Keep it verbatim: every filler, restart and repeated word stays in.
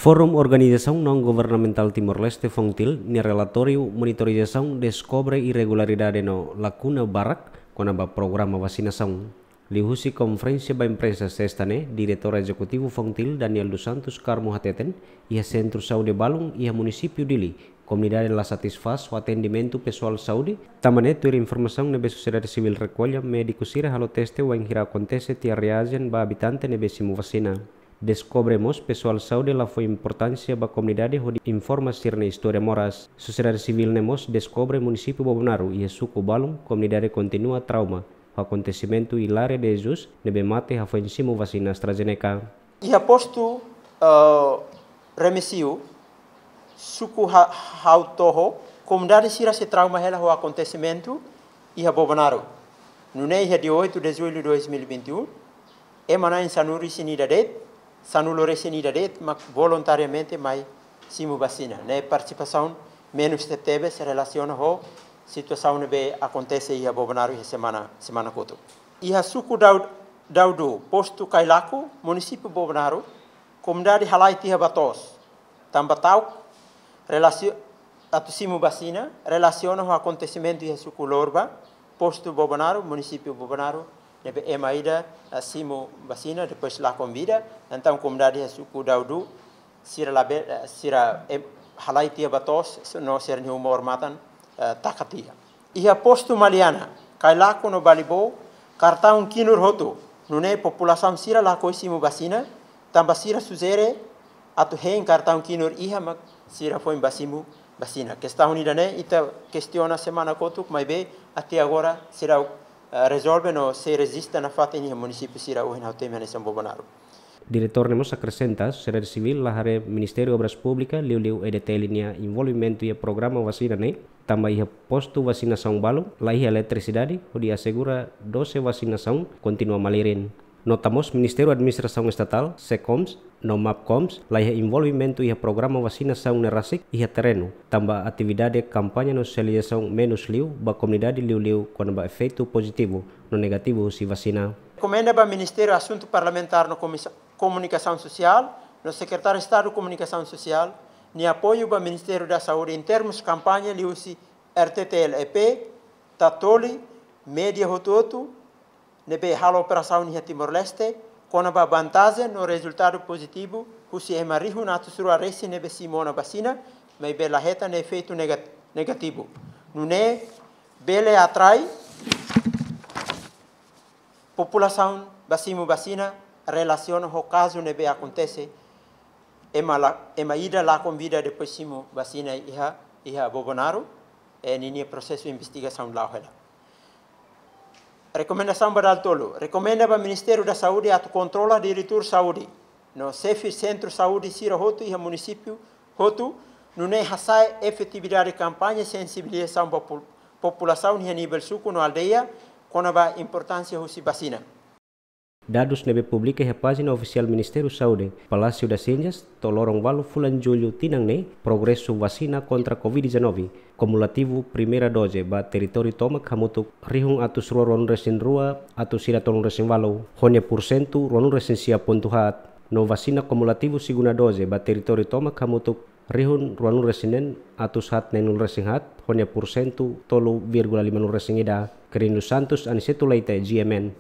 Forum Organizasaun Naun Governamentál Timor-Leste, FONGTIL, nia relatóriu monitorizasaun deskobre irregularidade no lakuna barak kona-ba programa vasinasaun. Liuhusi konferénsia ba imprensa Sesta ne'e, Diretór Ezekutivu FONGTIL, Daniel dos Santos Carmo, hateten, iha sentru saúde balun iha munisípiu Dili, komunidade la satisfás ho atendimentu pesoál saúde. Tanba ne'e, tuir informasaun ne'ebé sosiedade sivíl rekolla, médiku sira halo teste wainhira akontese tiha reajen ba abitante ne'ebé simu vasina. Deskobre mós pesoál saúde la fó importánsia ba komunidade hodi informa sira-nia istória moras. Sosiedade sivíl ne'e mós deskobre munisípiu Bobonaro iha suku balun komunidade kontinua trauma ho akontesimentu Hilaria de Jesus ne'ebé mate hafoin simu vasina AstraZeneca. Iha postu, eh, Remexio, suku Ha-, Hautoho, komunidade sira sei trauma hela ho akontesimentu iha Bobonaro. Nune'e iha dia oito de julho de dois mil e vinte e um, ema na'in sanulu-resin-ida de'it, sanulu-resin-ida de'it mak voluntariamente mai simu vasina. Ne'e partisipasaun menus tebetebes relasiona ho situasaun ne'ebé akontese iha Bobonaro iha semana, semana kotuk. Iha suku Dau-, Daudu, postu Kailaku, munisípiu Bobonaro, komunidade halai tiha ba to'os tanba ta'uk relasio-, atu simu vasina, relasiona ho akontesimentu iha suku Lorba, postu Bobonaro, munisípiu Bobonaro, ne'ebé ema ida, eh, simu vasina, depois lakon vida. Entaun komunidade iha suku Daudu, sira labele, eh, sira, em, halai tiha ba to'os, no sira-nia uma odamatan, eh, taka tiha. Iha postu Maliana, Kailaku no Balibou, kartaun KNUR hotu, nune'e populasaun sira lakohi simu vasina, tanba sira sujere atu hein kartaun KNUR iha mak sira foin bá simu vasina. Kestaun ida-ne'e ita kestiona semana kotuk, maibé até agora seidauk, eh, rezolve no sei rejista nafatin iha munisípiu sira ohin ha'u temi hanesan Bobonaro. Diretór ne'e mós akresenta, sosiedade sivíl la haree Ministériu Obras Públikas, liuliu EDTL nia envolvimentu iha programa vasina ne'e, tanba iha postu vasinasaun balun, laiha eletrisidade, hodi asegura dose vasinasaun kontinua malirin. Nota mós Ministériu Administrasaun Estatál, SECOMS, no MAPCOMS, laiha envolvimentu iha programa vasinasaun ne'e rasik iha terrenu, tanba atividade kampaña no sosializasaun menus liu ba komunidade, liuliu kona-ba efeitu pozitivu no negativu husi vasina. Rekomenda ba Ministériu Asuntu Parlamentár no Komisa-, Komunikasaun Sosiál, no Sekretáriu Estadu Komunikasaun Sosiál, nia apoiu ba Ministériu da Saúde em termos kampaña liuhusi RTTL-EP, Tatoli, média hotu-hotu ne'ebé halo operasaun iha Timor-Leste, kona-ba vantajen no rezultadu pozitivu husi ema rihun atus rua resin ne'ebé simu ona vasina, maibé la hetan efeitu negat-, negativu. Nune'e bele atrai populasaun bá simu vasina relasiona ho kazu ne'ebé akontese ema la-, ema ida lakon vida depois simu vasina iha, iha Bobonaro, eh, ninia prosesu investigasaun la'o hela. Rekomendasaun ba dala tolu. Rekomenda ba Ministériu da Saúde atu kontrola diretór saúde no xefe sentru saúde sira hotu iha munisípiu hotu, nune'e hasa'e efetividade kampaña sensibilizasaun ba pol-, populasaun iha nivel suku no aldeia, kona-ba importánsia husi vasina. Dadus ne'ebé publika iha pájina ofisiál Ministériu Saúde, Palácio das Ciências, to'o loron ualu fulan Jullu tinan ne'e, progresu vasina kontra Covid dezanove, kumulativu primeira doze ba territóriu tomak hamutuk rihun atus rua ruanulu resin rua atus ida tolunulu resin ualu, ho nia pursentu ruanulu resin sia pontu haat, no vasina kumulativu segunda doze ba territóriu tomak hamutuk rihun ruanulu resin neen atus haat neenulu resin haat, ho nia pursentu tolu vírgula limanulu resin ida. Quirino Santos, Aniceto Leite, GMN.